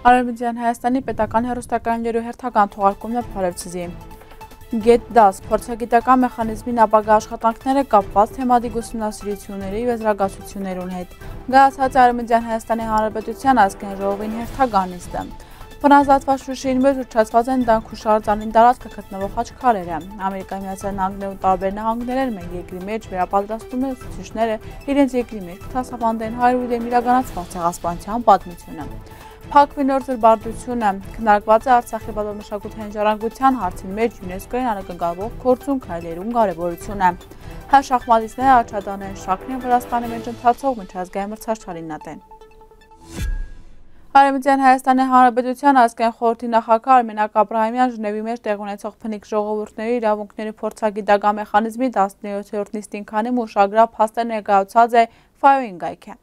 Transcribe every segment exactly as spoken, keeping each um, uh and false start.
Արևմտյան Հայաստանի պետական հեռուստակայաններու հերթական թողարկումն է, բարեւ ձեզի։ Գետ տաս, փորձագիտական մեխանիզմին ապագայ աշխատանքները կապուած թեմատիկ ուսումնասիրութիւններու եւ եզրակացութիւններուն հետ։ Գայացած Արևմտյան Հայաստանի Հանրապետութեան ազգային ժողովին հերթական նիստը։ Բնազատուած Շուշիին մէջ ուռչացուած են Տանք Հուշարձանին տարածքը գտնուող խաչքարերը։ Ամերիկայի Միացյալ Նահանգներու տարբեր նահանգներէն մէկ երկրի մէջ վերապատրաստումներ ուսուցիչները իրենց երկրի մէջ կը դասաւանդեն հայերու դէմ իրականացուած ցեղասպանութեան պատմութիւնը։ Փակուի նոր զրպարտութիւնը։ Քննարկուած է Արցախի պատմամշակութային ժառանգութեան հարցին մէջ իունեսկոյին անակնկալուող գործունք քայլերուն կարեւորութիւնը։ Հայ շախմատիստները աչադանեն շարքն են Վրաստանի մէջ ընթացող միջազգային մրցաշարին ատեն։ Արևմտյան Հայաստանի Հանրապետութեան ազգային խորհրդի նախագահ Արմենակ Աբրահամեան Ժնեւի մէջ տեղի ունեցող բնիկ ժողովուրդների իրաւունքների փորձագիտական մեխանիզմի տասներկու նիստին քանի մը ուշագրաւ փաստեր ներկայացուցած է Ֆայոյին կայքը։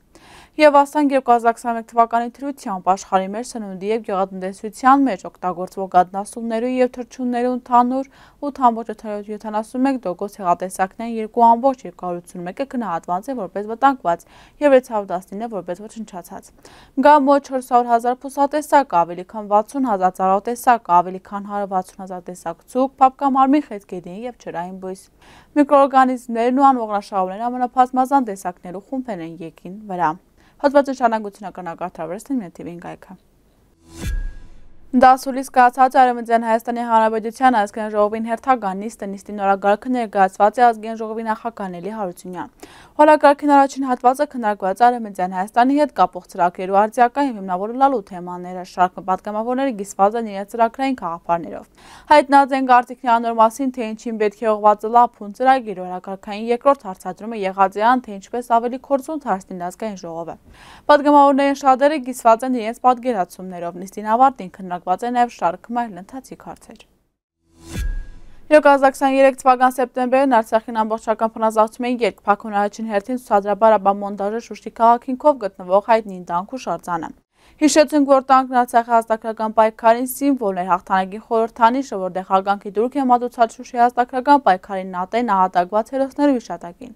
Եւ ասենք, երկու հազար քսանմեկ թուականի դրությամբ աշխարհի մէջ սնունդի եւ գեղատնտեսութեան մէջ օգտագործուող կաթնասուններու եւ թռչուններու ընդհանուր ութ ամբողջ յոթանասուն մէկ տոկոս ցեղատեսակներէն երկու ամբողջ երկու հարյուր ութսուն մէկը գնահատուած է որպես վտանգուած եւ երեք հարյուր տասնինը որպես ոչնչացած։ Կայ մոտ չորս հարյուր հազար բուսատեսակ, ավելի քան վաթսուն հազար ծառատեսակ, ավելի քան հարյուր վաթսուն հազար տեսակ ցուք, փափկամարմին խեցգետին եւ ջրային բոյս։ Միկրոօրգանիզմներն ու անողնաշարուներն ամենաբազմազան տեսակներու խումբերն են երկրին վրայ։ Հոդվածը շարունակությունը կրնակ արդարվերցնեն մեր թիվին կայքը։ Դասուլիս կայացած Արևմտյան Հայաստանի Հանրապետութեան ազգային ժողովին հերթական նիստը, նիստի նորակարգը ներկայացուած է ազգային ժողովի նախագահ Նելի Հարությունեան։ Օրակարգին առաջին հատվածը քննարկուած է Արևմտյան Հայաստանի հետ կապող ծրագրերու արդիական եւ հիմնավորը լալու թեմաները, շարք մը պատգամավորները կիսուած են իրենց ծրագրային գաղափարներով։ Հայտնած են կարծիքներն անոր մասին, թե ինչին պէտք է ուղղված ըլլայ փուն ծրագիր, օրակարգային երկրորդ հարցադրումը եղած է ան, թե ինչպէս ավելի կորձուն դարձնի ազգային ժողովը։ Պատգամավորներէն շատերը կիսուած են իրենց պատկերացումներով։ Նիստին ավարտին քննարկուած է նաեւ շարք մը այլ ընթացիկ հարցեր։ Երկու հազար քսաներեք թուական սեպտեմբերին Արցախին ամբողջական բնազդացում էին երկ Բաքուն առաջին հերթին ցուցադրաբար ապա մոնտաժը Շուշի քաղաքին քով գտնուող հայտնի Տանք Հուշարձանը։ Յիշեցնենք, որ Տանկն Արցախի ազատագրական պայքարին սիմվոլն էր, հաղթանակի խորհրդանիշը, որտեղ հարգանքի տուրք է մատուցած Շուշի ազատագրական պայքարին ատեն նահատակուած հերոսներու հիշատակին։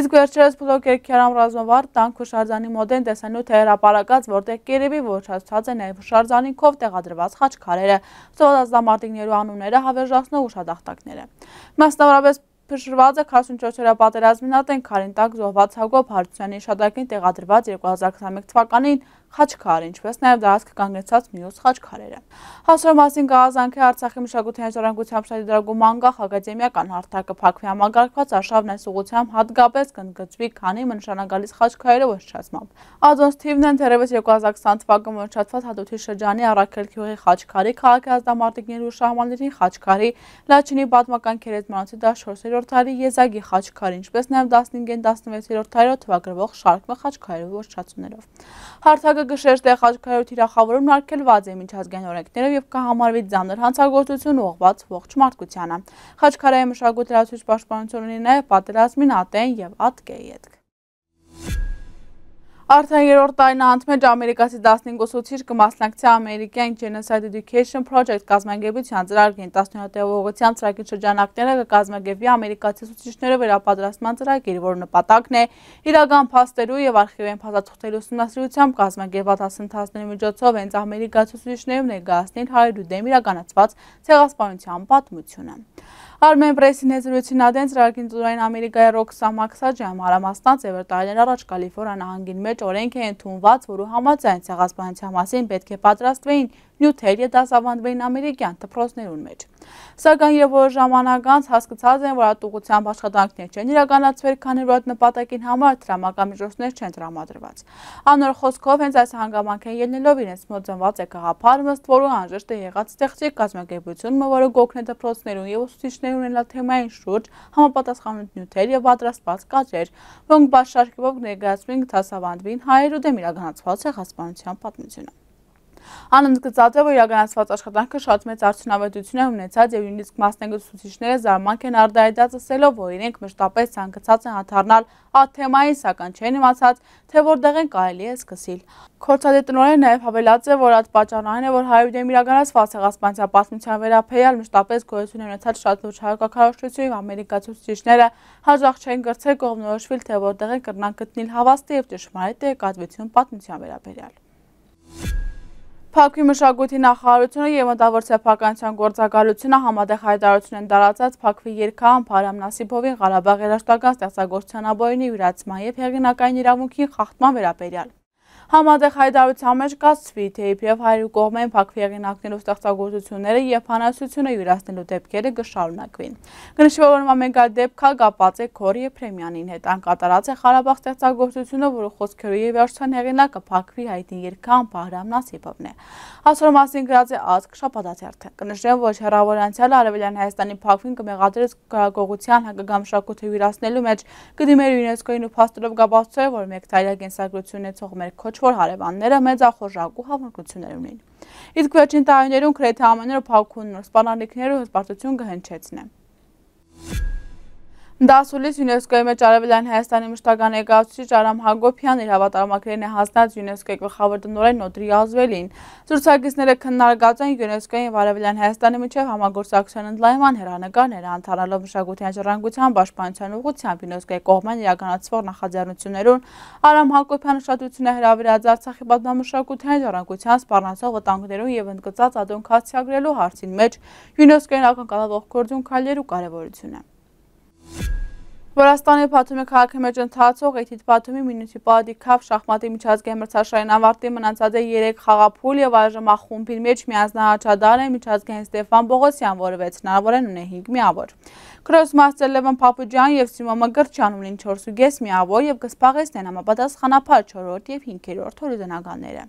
Իսկ վերջերս Փլոկեր Քիարամ ռազմավար Տանք Հուշարձանի մոտ են տեսանյութ է հրապարակած, որտեղ կերեւի ոչնչացուցած է նաեւ Հուշարձանին քով տեղադրուած խաչքարերը, զոհված ազդամարտիկներու անունները, հավերժացնող ուշատախտակները։ Մասնավորապես փշրուած է քառասունչորս օրեայ պատերազմին ատեն քարին տակ զոհուած Յակոբ Հարությունյանի հիշատակին տեղադրուած երկու հազար քսանմեկ թուականին խաչքարը, ինչպէս նաեւ դարձ կանգնեցած մյուս խաչքարերը։ Հասարու մասին գաղազանքը Արցախի մշակութային ժառանգության շահի դրագում անկախ ակադեմիական հարթակը Բաքվի համակարգված արշավն այս ուղղությամբ հատկապես կընդգծուի, քանի մը նշանագալից խաչքարերը ոչնչացմամբ։ Ադոնց թիվն են թերեւս երկու հազար քսան թվական մոռչացված Հատութի շրջանի Առաքել գիւղի խաչքարի, քաղաքի ազդամարտիկների ու շահմանների խաչքարի, Լաչինի պատմական գերեզմանոցի տասնչորսերորդ դարի եզակի խաչքարի, ինչպէս նաեւ տասնհինգ են տասնվեցերորդ դարերով թվագրվող շարք մը խաչքարերու ոչնչացումներով։ Հարթակը կը շեշտէ խաչքարերու թիրախաւորումն արգելուած է միջազգային օրենքներով եւ կը համարուի ծանր հանցագործություն ուղղուած ողջ մարդկությանը։ Խաչքարային մշակույթ լրացուցիչ պաշտպանություն ունի նաեւ պատերազմին ատեն եւ ատկէ ետք։ Արդեն երրորդ տարին անընդմեջ ամերիկացի տասնհինգ ուսուցիչ կը մասնակցի American Genocide Education Project կազմակերպութեան ծրագրին։ Տասնյոթ ուղղությամբ ծրագրի շրջանակները կը կազմակերպուի ամերիկացի ուսուցիչներու վերապատրաստման ծրագիր, որու նպատակն է իրական փաստերու եւ արխիվային փաստաթուղթերու ուսումնասիրությամբ կազմակերպված դասընթացների միջոցով հենց ամերիկացի ուսուցիչներուն ներկայացնել հայերու դէմ իրականացված ցեղասպանութեան պատմութիւնը։ Armen Press-ին հետ զրույցին ատեն ծրագրին տնօրեն Ամերիկայի Ռոքսա Մաքսաջյանը մանրամասնաց է, որ տարիներ առաջ Կալիֆորնիա նահանգին մէջ օրենք է ընդունուած, որու համաձայն ցեղասպանության մասին պէտք է պատրաստուէին նիւթեր եւ դասաւանդուէին ամերիկեան դպրոցներուն մէջ։ Սակայն երբ որոշ ժամանակ անց հասկցած են, որ այդ ուղղությամբ աշխատանքներ չեն իրականացուեր, քանի որ այդ նպատակին համար դրամական միջոցներ չեն տրամադրուած։ Անոր խօսքով, հենց այս հանգամանքէն ելնելով իրենց մոտ ծնուած է գաղափար, ըստ որու անհրաժեշտ է եղած ստեղծել կազմակերպություն մը, որը կօգնէ դպրոցներուն եւ ուսուցիչներուն ունենալ թեմային շուրջ համապատասխան նիւթեր եւ պատրաստուած կադրեր, որոնք բաց շարքերով կներկայացուին, կդասաւանդուին հայերու դէմ իրականացուած ցեղասպանութեան պատմութիւնը։ Ան ընդգծած է, որ իրականացուած աշխատանքը շատ մեծ արդիւնաւետութիւն է ունեցած եւ նոյնիսկ մասնակից ուսուցիչները զարմանք են արտահայտած, ըսելով, որ իրենք մշտապես ցանկացած են անդառնալ այդ թեմային, սակայն չեն իմացած, թե որտեղէն կարելի է սկսիլ։ Կորցատի տնօրենը նաեւ յաւելած է, որ այդ պատճառն այն է, որ հայերու դէմ իրականացուած ցեղասպանության պատմութեան վերաբերեալ մշտապես գոյություն է ունեցած շատ լուրջ հայոց քարոզչություն, եւ ամերիկացի ուսուցիչները հաճախ չեն կրցեր կողմնորոշուիլ, թե որտեղէն կրնան գտնել հաւաստի եւ ճշմարիտ տեղեկատվություն պատմութեան վերաբերեալ։ Բաքվի մշակոյթի նախարարութիւնը եւ մտաւոր սեփականութեան գործակալութիւնը համատեղ յայտարարութիւն են տարածած Բաքվի երգահան Փարհամ Նասիբովին Ղարաբաղի երաժշտական ստեղծագործութեան ապօրինի իւրացման եւ հեղինակային իրաւունքին խախտման վերաբերեալ։ Համատեղ յայտարարութեան մէջ կասուի, թէ իբրեւ հայերու կողմէն Բաքվի հեղինակներու ստեղծագործութիւնները եւ բանաստեղծութիւնը իւրացնելու դէպքերը կը շարունակուին։ Կը նշուի, որ ամէնքան դէպքը կապուած է Գոր Եփրեմեանին հետ։ Ան կատարած է Ղարաբաղ ստեղծագործութիւնը, որու խօսքերու եւ երաժշտության հեղինակը Բաքվի հայտնի երգահան Բահրամ Նասիբովն է։ Այսօր մասին գրած է Ազգ շաբաթաթերթը։ Կը նշեմ, որ հեռաւոր անցեալը Արեւելեան Հայաստանի Բաքվին կը մեղադրէր կրակողութեան հայկական մշակոյթը իւրացնելու մէջ կը դիմեր ЮՆESCO-ին ու փաստերով կապացուցել, որ մէկ տարեա կենսագրութիւն ունեցող մեր քոչվոր հարեւանները մեծախորժակ ու համընկնութիւններ ունին։ Իսկ վերջին տարիներուն գրեթէ ամէն օր Բաքուն նոր սպառնալիքներ ու հպարտութիւն կը հնչեցնէ։ Դասուլիս ЮNESCO-ի մէջ Արեւելեան Հայաստանի մշտական ներկայացուցիչ Արամ Հակոբեան իր հաւատարմագրերն է յանձնած ЮNESCO-ի գլխաւոր տնօրէն Նոտրի Ազուելին։ Զրուցակիցները քննարկած են ЮNESCO-ի եւ Արեւելեան Հայաստանի միջեւ համագործակցության ընդլայնման հեռանկարները, անդառնալով մշակութային ժառանգության պաշտպանության ուղղութեամբ ЮNESCO-ի կողմէն իրականացվող նախաձեռնություններուն։ Արամ Հակոբեան ուշադրութիւնը հրաւիրած Արցախի պատմամշակութային ժառանգության սպառնացող վտանգներուն եւ ընդգծած ատուն կասկածագրելու հարցին մէջ ЮNESCO-ին ակնկալվող գործունքայլերու կարեւորութիւնը։ Վրաստանի Բաթումի քաղաքի մէջ ընթացող Էթիտ Բաթումի մինուսի պարատի քաֆ շախմատի միջազգային մրցաշարին ավարտին մնացած է երեք խաղափուլ եւ այժմ ախումբին մէջ միանձնահաճադար է միջազգային Ստեփան Պողոսեան, որը վեց հնարաւորեն ունի հինգ միաւոր։ Քրոս Մաստեր Լեւոն Փափուջեան եւ Սիմոն Մկրտչեան ունին չորս ու կէս միաւոր եւ կը զբաղեցնեն համապատասխանաբար չորրորդ եւ հինգերորդ հորիզոնականները։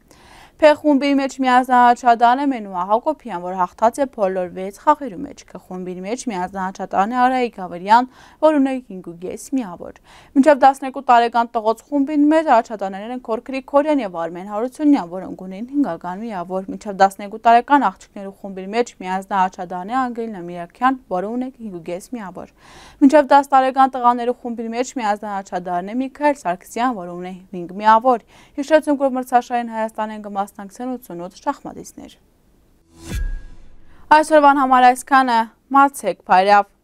Փ խումբի մէջ միանձնահաճադար է Մենուա Հակոբեան, որ հաղթած է բոլոր վեց խաղերու մէջ։ Կ խումբի մէջ միանձնահաճադար է Արայիկ Գավրիլեան, որ ունի հինգ ու կէս միաւոր։ Մինչեւ տասներկու տարեկան տղոց խումբին մէջ առաջադառներն են Գորգ Գրիգորեան եւ Արմէն Հարությունեան, որոնք ունին հինգական միաւոր։ Մինչեւ տասներկու տարեկան աղջիկներու խումբին մէջ միանձնահաճադար է Անգելինա Միրաքեան, որը ունի հինգ ու կէս միաւոր։ Մինչեւ տաս տարեկան տղաներու խումբին մէջ միանձնահաճադար է Միքայել Սարգսեան, որը ունի հինգ միաւոր։ Յիշեցնենք, որ մրցաշարին Հայաստանէն կը մասնակցեն ութսունութ շախմատիստներ։ Այսօրվան համար այսքանը, մացեք բարեաւ։